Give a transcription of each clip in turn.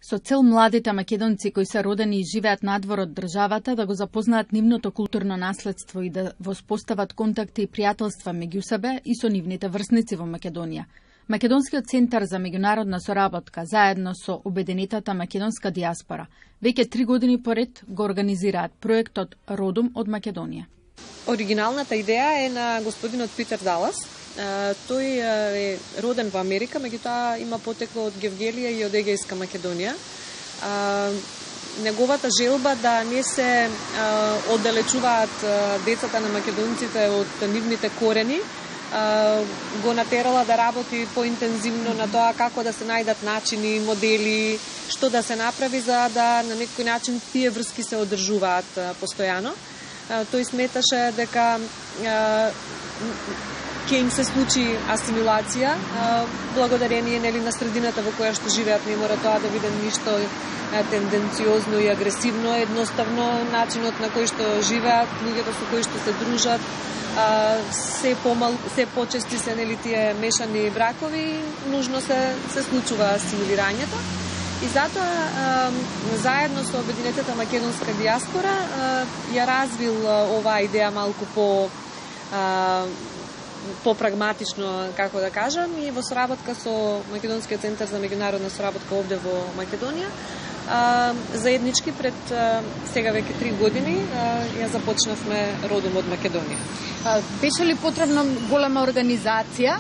со цел младите македонци кои се родени и живеат надвор од државата да го запознаат нивното културно наследство и да воспостават контакти и пријателства меѓу себе и со нивните врсници во Македонија. Македонскиот центар за меѓународна соработка заедно со обединетата македонска диаспора веќе 3 години поред го организираат проектот Родом од Македонија. Оригиналната идеја е на господинот Питер Далас. Тој е роден во Америка, меѓутоа има потекло од Гевгелија и од Егејска Македонија. Неговата желба да не се оддалечуваат децата на македонците од нивните корени го натерала да работи поинтензивно на тоа како да се најдат начини, модели, што да се направи за да на некој начин тие врски се одржуваат постојано. Тој сметаше дека ќе им се случи асимилација, благодарение на средината во која што живеат, не мора тоа да биде ништо тенденциозно и агресивно, едноставно начинот на кој што живеат, луѓето со кои што се дружат, се почести се тие мешани бракови, нужно се случува асимилирањето. И затоа, заедно со обединетата македонска диаспора, ја развил оваа идеја малку по-прагматично, како да кажам, и во соработка со Македонскиот центар за меѓународна соработка овде во Македонија, заеднички пред сега веќе 3 години ја започнавме Родом од Македонија. Беше ли потребна голема организација,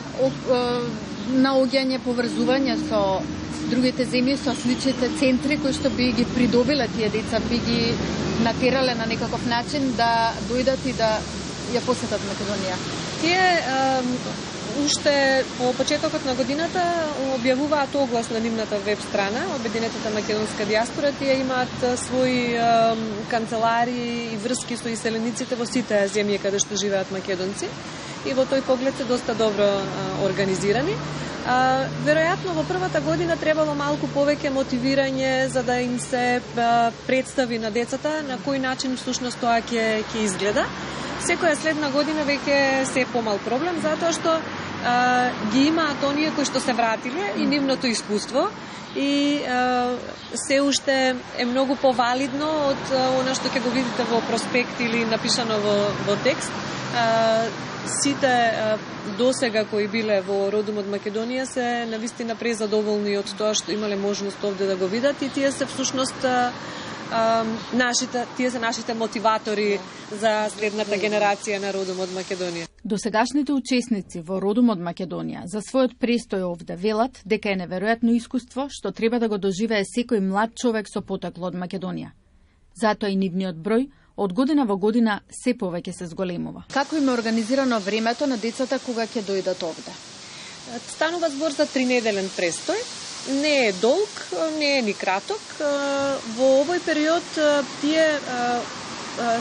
наоѓање, поврзување со другите земји, со сличните центри кои што би ги придобиле тие деца, би ги натерале на некаков начин да дојдат и да ја посетат Македонија? Тие уште по почетокот на годината објавуваат оглас на нивната веб страна, Обединетата македонска диаспора. Тие имаат своји канцелари и врски со иселениците во сите земји каде што живеат македонци и во тој поглед се доста добро организирани. Веројатно во првата година требало малку повеќе мотивирање за да им се представи на децата на кој начин всушност тоа ќе изгледа. Секоја следна година веќе се е помал проблем, затоа што ги имаат оние кои што се вратиле и нивното искуство и се уште е многу повалидно од она што ќе го видите во проспект или напишано во текст. Сите досега кои биле во Родом од Македонија се навистина презадоволни од тоа што имале можност овде да го видат и тие се всушност тие се нашите мотиватори за следната генерација на Родом од Македонија. Досегашните учесници во Родом од Македонија за својот престој овде велат дека е неверојатно искуство што треба да го доживее секој млад човек со потекло од Македонија. Затоа и нивниот број од година во година се повеќе се зголемува. Како им е организирано времето на децата кога ќе дојдат овде? Станува збор за 3-неделен престој. Не е долг, не е ни краток. Во овој период тие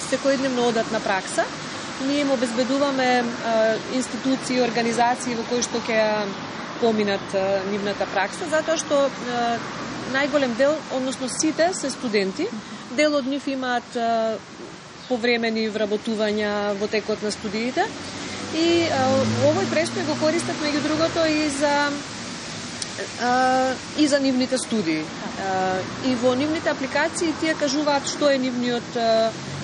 секојдневно одат на пракса. Ние им обезбедуваме институции, организации во кои што ќе поминат нивната пракса, затоа што најголем дел, односно сите се студенти. Дел од нив имаат повремени вработувања во текот на студиите. И овој престој го користат меѓу другото и за нивните студии. И во нивните апликации тие кажуваат што е нивниот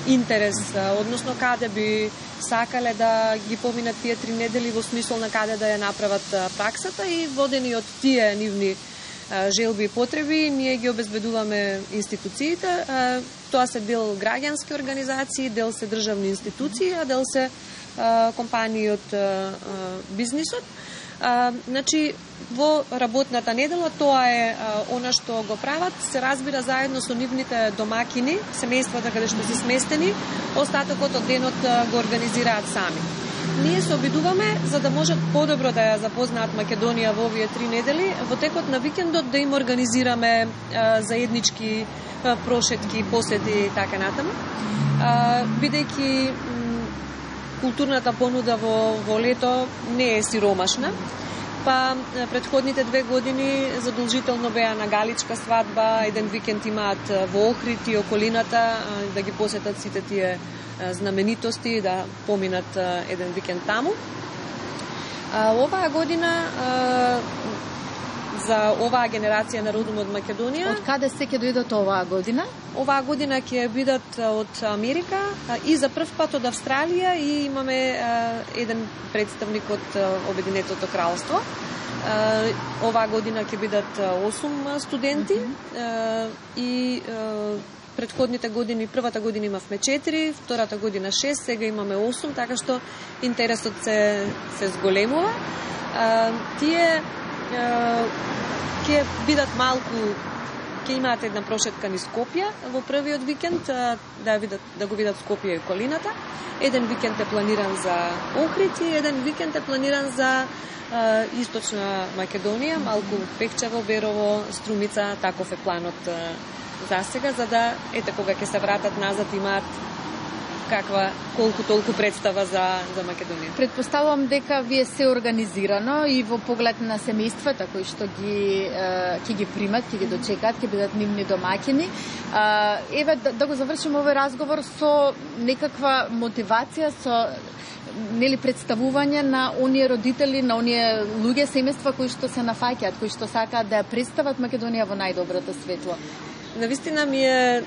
интерес, односно каде би сакале да ги поминат тие 3 недели во смисол на каде да ја направат праксата и водени од тие нивни желби и потреби, ние ги обезбедуваме институциите. Тоа се дел граѓански организации, дел се државни институции, а дел се компании од бизнисот. Значи, во работната недела тоа е она што го прават, се разбира заедно со нивните домакини, семејствата каде што се сместени, остатокот од денот го организираат сами. Ние се обидуваме за да можат подобро да ја запознаат Македонија во овие 3 недели, во текот на викендот да им организираме заеднички прошетки, посети и така натаму. Бидејќи културната понуда во лето не е сиромашна, па претходните 2 години задолжително беа на галичка свадба, еден викенд имаат во Охрид и околината да ги посетат сите тие знаменитости, да поминат еден викенд таму. Оваа година за оваа генерација на родом од Македонија. Од каде се ќе дојдат оваа година? Оваа година ќе бидат од Америка и за прв пат од Австралија и имаме еден представник од Обединетото кралство. Оваа година ќе бидат 8 студенти и предходните години, првата година имавме 4, втората година 6, сега имаме 8, така што интересот се зголемува. Тие ќе бидат малку, ќе имаат една прошетка низ Скопје во првиот викенд, да го видат Скопје и околината. Еден викенд е планиран за Охрид и еден викенд е планиран за Источна Македонија, малку Пехчево, Берово, Струмица, таков е планот за сега, за да кога ќе се вратат назад имаат колку толку представа за Македонија. Предпоставувам дека вие се организирано и во поглед на семејствата кои што ќе ги примат, ќе ги дочекаат, ќе бидат нивни домаќини. Еве да го завршиме овој разговор со некаква мотивација, со представување на оние родители, на оние луѓе, семејства кои што се нафаќаат, кои што сакаат да ја представат Македонија во најдоброто светло. Навистина ми е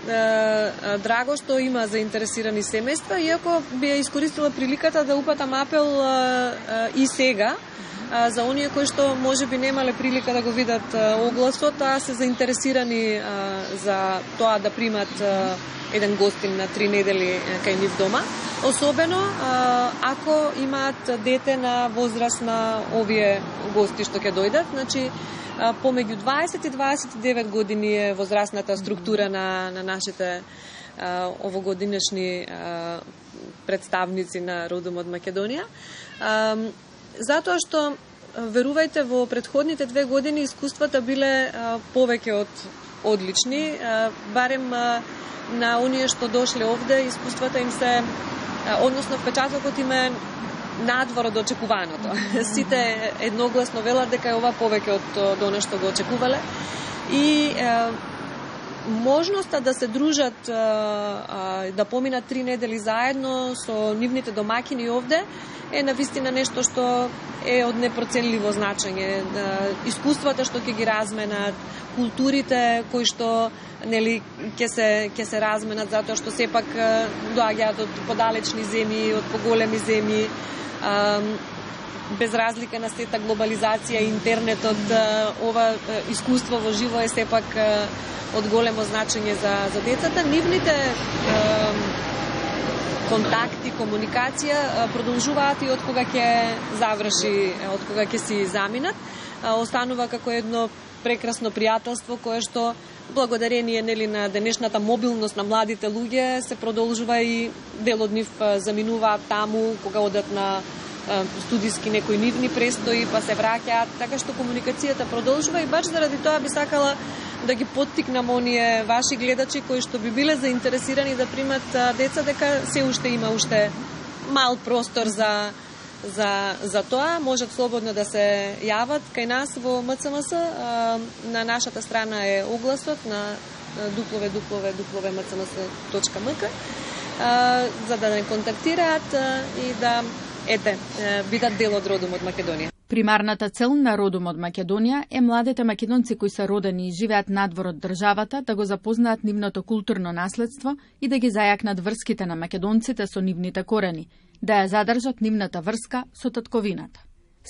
драго што има заинтересирани семејства, иако би ја искористила приликата да упатам апел и сега за оние кои што можеби немале прилика да го видат огласот, а се заинтересирани за тоа да примат еден гостин на 3 недели кај нив дома. Особено ако имаат дете на возраст на овие гости што ќе дојдат, значи помеѓу 20 и 29 години е возрастната структура на нашите овогодинешни представници на родом од Македонија. Затоа што, верувајте, во предходните 2 години искуствата биле повеќе од одлични, барем на оние што дошле овде, искуствата им се, односно впечатокот им е надвор од очекуваното. Сите едногласно велат дека е ова повеќе од она што го очекувале. И можноста да се дружат, да поминат 3 недели заедно со нивните домаќини овде е навистина нешто што е од непроценливо значење. Искуствата што ќе ги разменат, културите кои што ќе се разменат, затоа што сепак доаѓаат од подалечни земји, од поголеми земји, без разлика на сета глобализација и интернетот, ова искуство во живо е сепак од големо значење за децата. Нивните контакти, комуникација продолжуваат и од кога ќе заврши, од кога ќе си заминат. Останува како едно прекрасно пријателство кое што благодарение на денешната мобилност на младите луѓе се продолжува и дел од нив заминуваат таму кога одат на студиски некои нивни престои, па се враќаат, така што комуникацијата продолжува и баш заради тоа би сакала да ги поттикнам оние ваши гледачи кои што би биле заинтересирани да примат деца, дека се уште има мал простор за тоа, можат слободно да се јават кај нас во МЦМС. На нашата страна е огласот на www.mcms.mk за да не контактираат и да бидат дел од родом од Македонија. Примарната цел на родом од Македонија е младите македонци кои се родени и живеат надвор од државата да го запознаат нивното културно наследство и да ги зајакнат врските на македонците со нивните корени, да ја задржат нивната врска со татковината.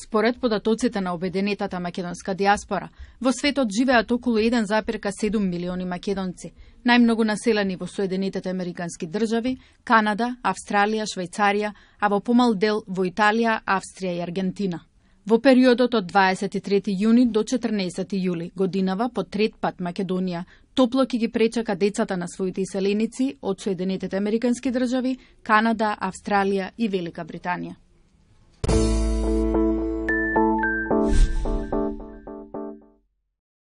Според податоците на Обединетата македонска диаспора, во светот живеат околу 1,7 милиони македонци, најмногу населени во Соединетите Американски држави, Канада, Австралија, Швајцарија, а во помал дел во Италија, Австрија и Аргентина. Во периодот од 23 јуни до 14 јули годинава по трет пат Македонија топло ќе ги пречака децата на своите иселеници од Соединетите Американски држави, Канада, Австралија и Велика Британија.